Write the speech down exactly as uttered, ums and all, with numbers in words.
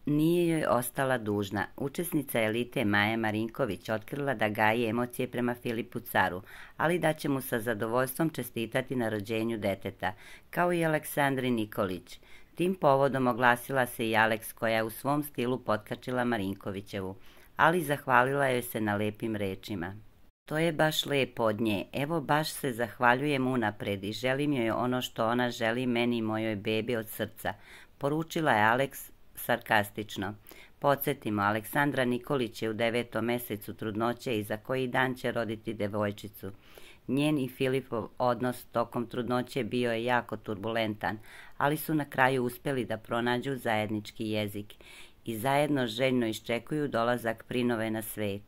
Nije joj ostala dužna. Učesnica elite Maja Marinković otkrila da gaji emocije prema Filipu Caru, ali da će mu sa zadovoljstvom čestitati na rođenju deteta, kao i Aleksandri Nikolić. Tim povodom oglasila se i Aleks, koja je u svom stilu potkačila Marinkovićevu, ali zahvalila joj se na lepim rečima. To je baš lepo od nje. Evo baš se zahvaljujem unapred i želim joj ono što ona želi meni i mojoj bebi od srca, poručila je Aleks sarkastično. Podsjetimo, Aleksandra Nikolić je u devetom mesecu trudnoće i za koji dan će roditi devojčicu. Njen i Filipov odnos tokom trudnoće bio je jako turbulentan, ali su na kraju uspjeli da pronađu zajednički jezik i zajedno željno iščekuju dolazak prinove na svet.